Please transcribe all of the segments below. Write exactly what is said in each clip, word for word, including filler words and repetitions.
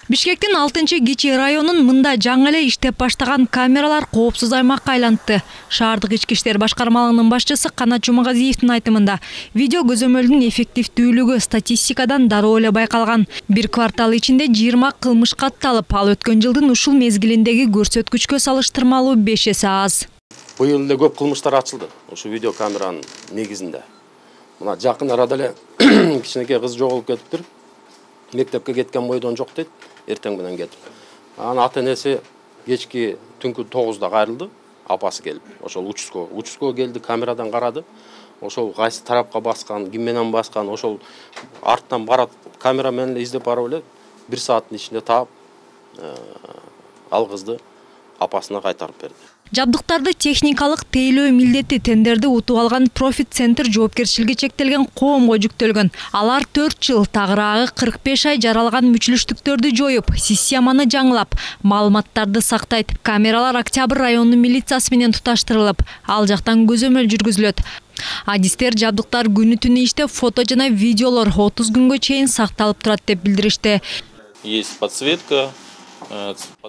Бишкектин алтынчы Кичи районунун мында жаңы эле иштеп баштаган камералар коопсуз аймакка айланды. Шаардык ички иштер башкармалыгынын башчысы Канат Жумагазиевдин айтымында, видео көзөмөлдүн эффективдүүлүгү статистикадан дароо эле байкалган. Бир квартал ичинде жыйырма кылмыш катталып, ал өткөн жылдын ушул мезгилиндеги көрсөткүчкө салыштырмалуу беш эсе аз. Быйыл эле көп кылмыштар ачылды ушу видео камеранын негизинде. Мына жакын арада эле кичинекей кыз жоголуп кетиптир. Мектепке кеткен бойдон жок дейт, эртең менен кетип. Анын ата-энеси кечки түнкү тогузда кайрылды, апасы келип. Ошол учуско, учуско келди, камерадан карады. Ошол кайсы тарапка баскан, ким менен баскан, ошол арттан барат, камера менен эле издеп барып эле бир сааттын ичинде таап, ал кызды апасына кайтарып берди. Жабдыктарды техникалык тейлөө милдети тендерди утуп алган Profit Center жоопкерчилиги чектелген коомго жүктөлгөн. Алар төрт жыл, тагыраагы кырк беш ай жаралган мүчүлүштүктөрдү жоюп, системаны жаңылап, маалыматтарды сактайт. Камералар Октябрь районунун милициясы менен туташтырылып, ал жактан көзөмөл жүргүзүлөт. Адистер жабдыктар күнү түнү иштеп, фото жана видеолор отуз күнгө чейин сакталып турат деп билдиришти. Есть подсветка.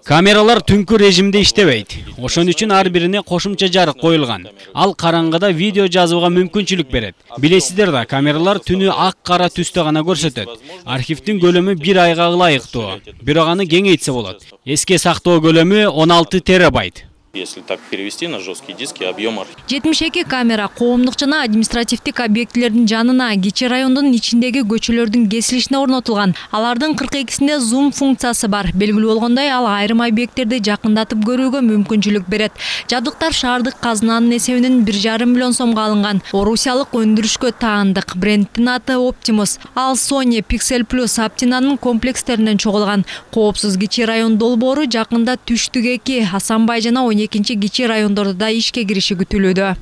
Камералар түнкү режимде иштебейт. Ошон үчүн ар бирине кошумча жарык коюлган. Ал караңгыда видео жазууга мүмкүнчүлүк берет. Билесиздер да, камералар түнү ак-кара түстө гана көрсөтөт. Архивдин көлөмү бир айга ылайыктуу. Бирок аны кеңейтсе болот. Эске сактоо көлөмү он алты терабайт. Если так перевести на жесткие диски, объем архива. жетимиш эки камера коомдук жана административдик объектилердин жанына, Кичи райондун ичиндеги көчөлөрдүн кесилишине орнотулган. Алардын кырк экисинде зум функциясы бар. Белгилүү болгондой, ал айрым объекттерди жакындатып көрүүгө мүмкүнчүлүк берет. Жабдыктар шаардык казынанын эсебинен бир жарым миллион сомго алынган. Орусиялык өндүрүшкө таандык. Брендтин аты Optimus. Ал Sony Pixel Plus Aptina'нын комплекстеринен чогулган. Коопсуз Кичи район долбоору жакында Түштүк эки, Асанбай жана он экинчи Кичи райондордо да ишке кириши күтүлүүдө.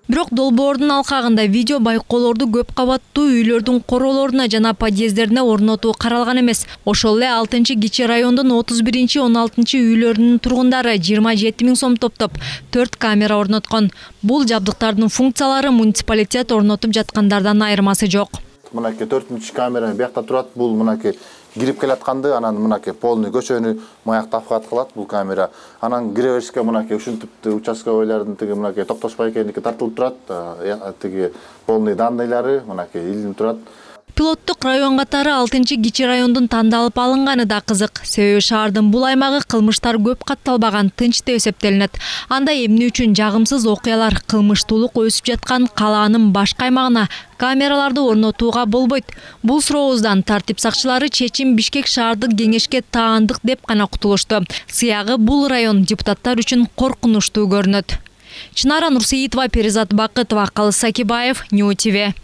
Бирок долбоордун алкагында видео байкоолорду көп кабаттуу үйлөрдүн короолоруна жана подъезддерине орнотуу каралган эмес. Ошол эле алтынчы Кичи райондун отуз биринчи он алтынчы үйлөрүнүн тургундары жыйырма жети миң сом топтоп төрт камера орноткон. Бул жабдыктардын функциялары муниципалитет орнотуп жаткандардан айырмасы жок. Мынакей төртүнчү камера биякта турат. Бул мынакей кирип келатканды, анан мынакей полный көчөнү маяктап кылат бул камера. Анан кире беришке мынакей ушинтип участка бойлордун тиги мынакей токтошпой экендики тартылып турат. Тиги полный данныйлары мынакей илинип турат. Пилоттук район катары алтынчы Кичи райондун тандалып алынганы да кызык. Себеби шаардын бул аймагы кылмыштар көп катталбаган, тынч деп эсептелинет. Анда эмне үчүн жагымсыз окуялар, кылмыштуулук өсүп жаткан калаанын башка аймагына камераларды орнотууга болбойт? Бул сурообуздан тартип сакчылары чечим Бишкек шаардык кеңешке таандык деп гана кутулушту. Сыягы бул район депутаттар үчүн коркунучтуу көрүнөт. Чынара Нурсеитова, Перизат Бакытова, Калыс Сакибаев, Нью ТВ.